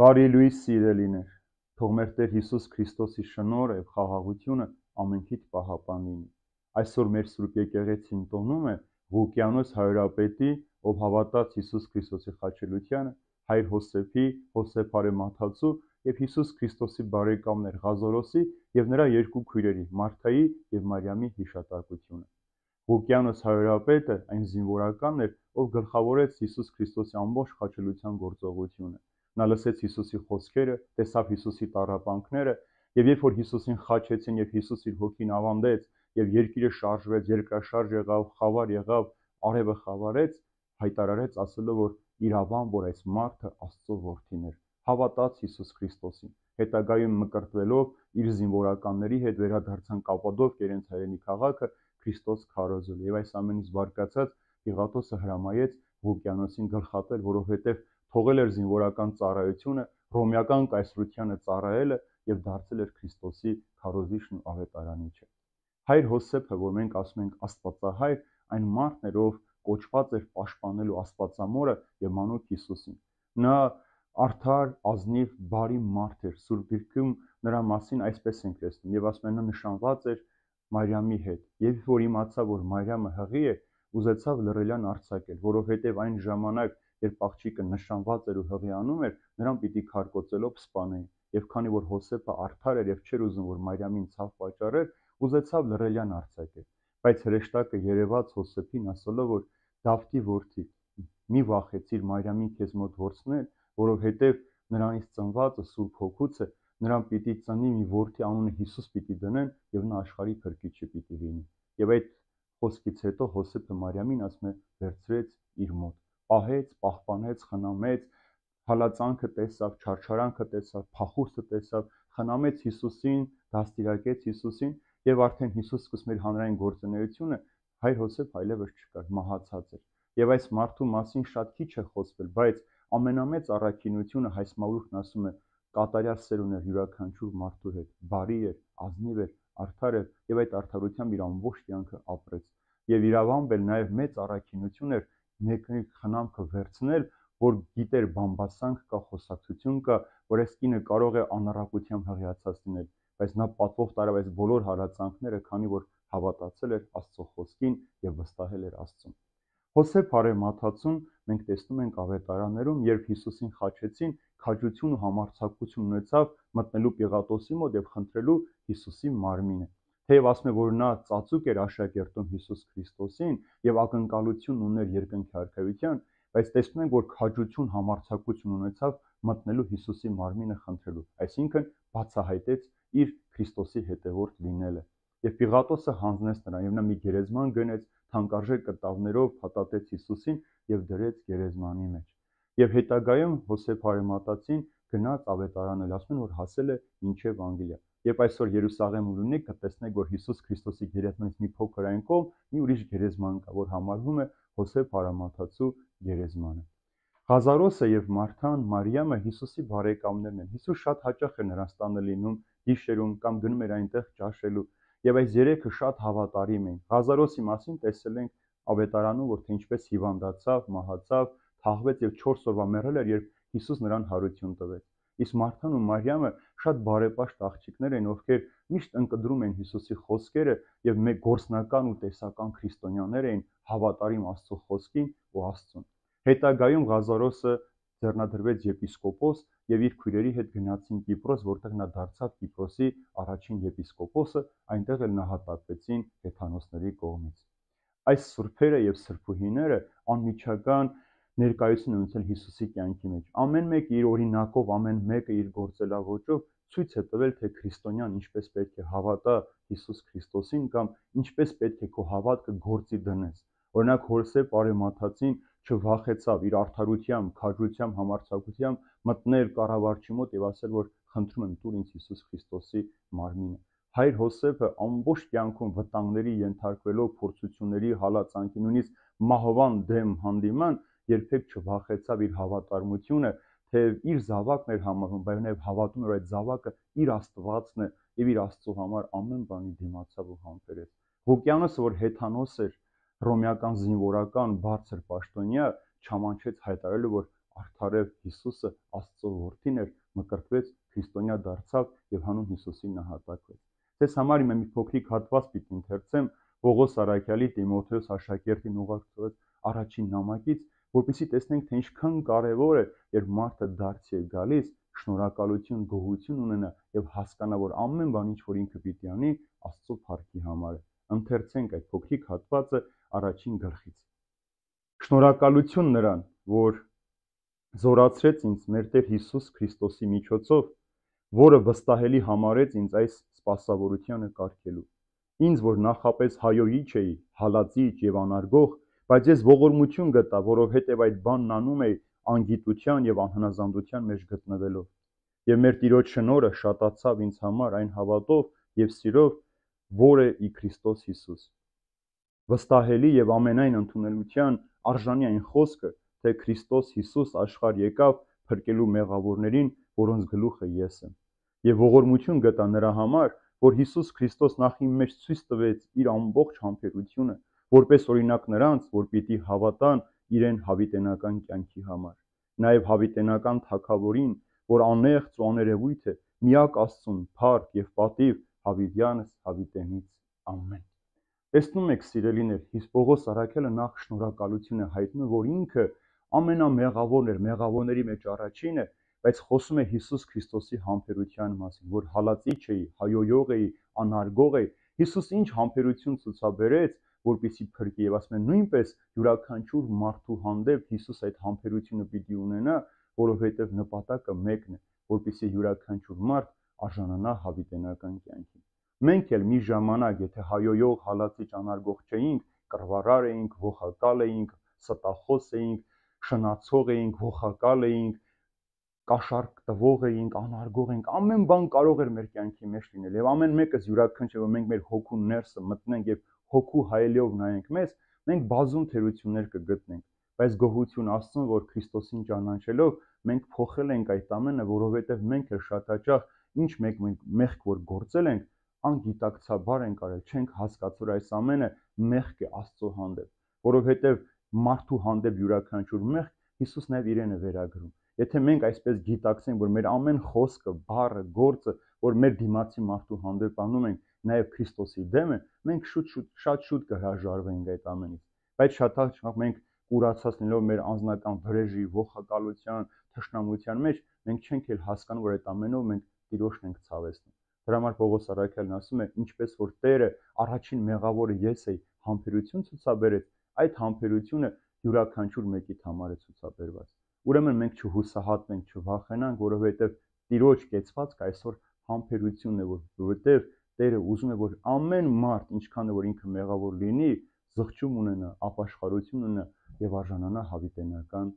Բարի լույս սիրելիներ, թող մեր Տեր Հիսուս Քրիստոսի շնորհը եւ խաղաղությունը ամենքիդ պահապան լինի։ Այսօր մեր Սուրբ Եկեղեցին տոնում է Ղուկիանոս հայրապետի, ով հավատաց Հիսուս Քրիստոսի խաչելությանը, հայր Հոսեփի, Հոսեփ Արեմաթացու եւ Հիսուս Քրիստոսի բարեկամներ Ղազարոսի եւ նրա երկու քույրերի Մարթայի եւ Մարիամի հիշատակությունը։ Ղուկիանոս հայրապետը այն զինվորականն էր, ով գլխավորեց Հիսուս Քրիստոսի ամբողջ խաչելության գործողությունը։ Նա լսեց Հիսուսի խոսքերը, տեսավ Հիսուսի տառապանքները, եւ երբ որ Հիսուսին խաչեցին եւ Հիսուս իր հոգին ավանդեց եւ երկիրը շարժվեց, երկրաշարժ եղավ, խավար եղավ, արևը խավարեց, հայտարարեց ասելով, որ իրավամբ որ այս մարդը Աստծո որդին էր, հավատաց Հիսուս Քրիստոսին։ Հետագայում մկրտվելով իր զինվորականների հետ վերադարձան Կապադովկիա իրենց հայրենի քաղաքը Քրիստոս քարոզել եւ այս ամենից բարկացած Պիղատոսը հրամայեց Ղուկիանոսին գլխատել, որովհետեւ թողել էր զինվորական ծառայությունը, ռոմեական կայսրությանը ծառայելը եւ դարձել էր Քրիստոսի քարոզիչն ու ավետարանիչը։ Հայր Հոսեփը, որ մենք ասում ենք Աստվածահայր, այն մարդն էր, ով կոչված էր պաշտպանելու Աստվածամորը եւ մանուկ Հիսուսին։ Նա արդար, ազնիվ, բարի մարդ էր։ Սուրբ Գրքում նրա մասին այսպես ենք տեսնում եւ ասում են նա նշանված էր Մարիամի հետ։ Եվ որ իմացավ, որ Մարիամը հղի է, ուզեցավ լռելյան արձակել, որովհետեւ այն ժամանակ երբ աղջիկը նշանված էր ու հղիանում էր, նրան պիտի քարկոծելով սպանեին։ Եվ քանի որ Հոսեփը արդար էր եւ չէր ուզում, որ Մարիամին ցավ պատճառեր, ուզեցավ լռելյան արձակել։ Բայց հրեշտակը երևաց Հոսեփին ասելով, որ Դավթի որդի, մի վախեցիր Մարիամին քեզ մոտ ворցնել, որովհետեւ նրանից ծնվածը Սուրբ Հոգուց է, նրան պիտի ծնի մի որդի, անունը Հիսուս պիտի դնեն եւ նա աշխարհի փրկիչը պիտի լինի։ Եվ այդ խոսքից հետո Հոսեփը Մարիամին ասում է վերցրեց իր մոտ, պահեց, պահպանեց, խնամեց, հալածանքը տեսավ, չարչարանքը տեսավ, փախուստը տեսավ, խնամեց Հիսուսին, դաստիարակեց Հիսուսին եւ արդեն Հիսուս սկսում էր հանրային գործունեությունը, հայր Հոսեփ այլևս չկար, մահացած էր։ Եվ այս մարդու մասին շատ քիչ է խոսվել, բայց ամենամեծ առաքինությունը հայ մավրուքն ասում է կատարյալ սեր ուներ յուրաքանչյուր մարդու հետ, բարի էր, ազնիվ էր, արդար էր եւ այդ արդարությամբ իր ամբողջ կյանքը ապրեց։ Եվ իրավամբ էլ նաեւ մեծ առաքինություն էր մեկի խնամքը վերցնել, որ գիտեր բամբասանք կա, խոսակցություն կա, որ այս կինը կարող է անառակությամբ հղիացած լինել, բայց նա պատվով տարավ այս բոլոր հալածանքները, քանի որ հավատացել էր Աստծո խոսքին եւ վստահել էր Աստծուն։ Հոսեփ Արեմաթացուն մենք տեսնում ենք ավետարաններում, երբ Հիսուսին խաչեցին, քաջություն ու համարձակություն ունեցավ մտնելու Պիղատոսի մոտ եւ խնդրելու Հիսուսի մարմինը։ Թեև ասում է, որ նա ծածուկ էր աշակերտում Հիսուս Քրիստոսին եւ ակնկալություն ուներ երկնքի արքայության, բայց տեսնում ենք, որ քաջություն, համարձակություն ունեցավ մտնելու Հիսուսի մարմինը խնդրելու, այսինքն բացահայտեց իր Քրիստոսի հետևորդ լինելը։ Եվ Պիղատոսը հանձնեց նրան, եւ նա մի գերեզման գնեց, թանկարժեք կտավներով փաթաթեց Հիսուսին եւ դրեց գերեզմանի մեջ։ Եվ հետագայում Հոսեփ Արեմաթացին գնաց ավետարանել, ասում են, որ հասել է մինչև Անգլիա։ Երբ այսօր Երուսաղեմում լինեք, կտեսնեք, որ Հիսուս Քրիստոսի գերեզմանից մի փոքր այն կողմ մի ուրիշ գերեզման կա, որ համարվում է Հոսեփ Արեմաթացու գերեզմանը։ Ղազարոսը եւ Մարթան, Մարիամը Հիսուսի բարեկամներն են։ Հիսուս շատ հաճախ է նրանց տանը լինում, գիշերում կամ գնում էր այնտեղ ճաշելու։ Եվ այս երեքը շատ հավատարիմ էին։ Ղազարոսի մասին տեսել ենք ավետարանում, որ թե ինչպես հիվանդացավ, մահացավ, թաղվեց եւ 4 օրվա մեռել էր, երբ Հիսուս նրան հարություն տվեց։ Իսկ Մարթան ու Մարիամը շատ բարեպաշտ աղջիկներ են, ովքեր միշտ ընկդրում են Հիսուսի խոսքերը եւ մեկ գործնական ու տեսական քրիստոնյաներ էին, հավատարիմ Աստծո խոսքին ու Աստծուն։ Հետագայում Ղազարոսը ձեռնադրվեց եպիսկոպոս եւ իր քույրերի հետ գնացին Կիպրոս, որտեղ նա դարձավ Կիպրոսի առաջին եպիսկոպոսը, այնտեղ էլ նահատակվեցին հեթանոսների կողմից։ Այս սուրբերը եւ սրբուհիները անմիջական ներկայություն ունեցել Հիսուսի կյանքի մեջ։ Ամեն մեկը իր օրինակով, ամեն մեկը իր գործելավոճով ցույց է տվել, թե քրիստոնյան ինչպես պետք է հավատա Հիսուս Քրիստոսին կամ ինչպես պետք է քո հավատքը գործի դնես։ Օրինակ Հոսեփ Արեմաթացին չվախեցավ իր արդարությամբ, քաջությամբ, համարձակությամբ մտնել կառավարչի մոտ եւ ասել, որ խնդրում եմ տուր ինձ Հիսուս Քրիստոսի մարմինը։ Հայր Հոսեփը ամբողջ կյանքում վտանգների ենթարկվելով, փորձությունների, հալածանքի, նույնիսկ մահվան դեմ հանդիման, երբեք չվախեցավ իր հավատարմությունը, թեև իր զավակն էր համարվում, բայց նաև հավատում էր, որ այդ զավակը իր Աստվածն է եւ իր Աստծո համար ամեն բանի դիմացավ ու համբերեց։ Ղուկիանոսը, որ հեթանոս էր, ռոմեական զինվորական բարձր պաշտոնյա, չամանչեց հայտարարելու, որ արդարև Հիսուսը Աստծո որդին էր, մկրտվեց, քրիստոնյա դարձավ եւ հանուն Հիսուսի նահատակվեց։ Ձեզ համար իմ մի փոքրիկ հատված պիտի ընթերցեմ Պողոս Արաքյալի Տիմոթեոս աշակերտին ուղարկած առաջին նամակից, որպեսզի տեսնենք, թե ինչքան կարևոր է, երբ մարդը դարձի է գալիս, շնորհակալություն, գոհություն ունենա եւ հասկանա, որ ամեն բան, ինչ որ ինքը պիտի անի, Աստծո փառքի համար է։ Ընթերցենք այդ փոքրիկ հատվածը առաջին գլխից։ Շնորհակալություն նրան, որ զորացրեց ինձ մեր Տեր Հիսուս Քրիստոսի միջոցով, որը վստահելի համարեց ինձ այս սպասավորությանը կարգելու։ Ինձ, որ նախապես հայոյիչ էի, հալածիչ եւ անարգող, բայց ես ողորմություն գտա, որովհետեւ այդ բանն անում էի անգիտության եւ անհնազանդության մեջ գտնվելով։ Եվ մեր Տիրոջ շնորհը շատացավ ինձ համար այն հավատով եւ սիրով, որը ի Քրիստոս Հիսուս։ Վստահելի եւ ամենայն ընդունելության արժանի այն խոսքը, թե Քրիստոս Հիսուս աշխարհ եկավ փրկելու մեղավորներին, որոնց գլուխը ես եմ։ Եվ ողորմություն գտա նրա համար, որ Հիսուս Քրիստոս նախ իմ մեջ ցույց տվեց իր ամբողջ համբերությունը, որպես օրինակ նրանց, որ պիտի հավատան իրեն հավիտենական կյանքի համար։ Նաև հավիտենական թագավորին, որ անեղծ ու աներևույթ է, միակ Աստծուն փառք եւ պատիվ հավիտյանս հավիտենից ամեն։ Տեսնում եք, սիրելիներ, Պողոս Արաքյալը նախ շնորհակալություն է հայտնում, որ ինքը ամենամեղավորն էր, մեղավորների մեջ առաջինն է, բայց խոսում է Հիսուս Քրիստոսի համբերության մասին, որ հալածիչ էի, հայոյող էի, անարգող էի։ Հիսուս ինչ համբերություն ցուցաբերեց, որպեսզի փրկի, եւ ասում են նույնպես յուրաքանչյուր մարդու հանդեպ Հիսուս այդ համբերությունը պիտի ունենա, որովհետեւ նպատակը մեկն է, որպեսզի յուրաքանչյուր մարդ արժանանա հավիտենական կյանքին։ Մենք էլ մի ժամանակ, եթե հայոյող, հալածիչ, անարգող չէինք, կռվարար էինք, ողակալ էինք, ստախոս էինք, շնացող էինք, ողակալ էինք, կաշառք տվող էինք, անարգող էինք, ամեն բան կարող էր մեր կյանքի մեջ լինել եւ ամեն մեկս յուրաքանչյուր, որ մենք մեր հոգու ներսը մտնենք եւ հոգու հայելիով նայենք մեզ, մենք բազում թերություններ կգտնենք, բայց գոհություն Աստծուն, որ Քրիստոսին ճանաչելով մենք փոխել ենք այդ ամենը, որովհետեւ մենք էլ շատ հաճախ ինչ մեղք որ գործել ենք, անգիտակցաբար ենք արել, չենք հասկացել, որ այս ամենը մեղք է Աստծո հանդեպ, որովհետեւ մարդու հանդեպ յուրաքանչյուր մեղք Հիսուս նաեւ իրեն է վերագրում։ Եթե մենք այսպես գիտակցենք, որ մեր ամեն խոսքը, բառը, գործը, որ մեր դիմացի մարդու հանդեպ անում ենք, նաև Քրիստոսի դեմ է, մենք շատ շուտ կհրաժարվենք այդ ամենից։ Բայց շատ հաճախ մենք կուրացած լինելով մեր անձնական վրեժի, ողակալության, թշնամության մեջ, մենք չենք էլ հասկանում, որ այդ ամենով մենք Տիրոջն ենք ցավեցնում։ Դրա համար Պողոս Արաքյալն ասում է, ինչպես որ Տերը առաջին մեղավորը ես էի, համբերություն ցուցաբերեց, այդ համբերությունը յուրաքանչյուր մեկիդ համար է ցուցաբերված։ Ուրեմն մենք չհուսահատվենք, չվախենանք, որովհետև Տիրոջ կեցվածքը այսօր համբերությունն է, որովհետև Տերը ուզում է, որ ամեն մարդ, ինչքան որ ինքը մեղավոր լինի, զղջում ունենա, ապաշխարություն ունենա եւ արժանանա հավիտենական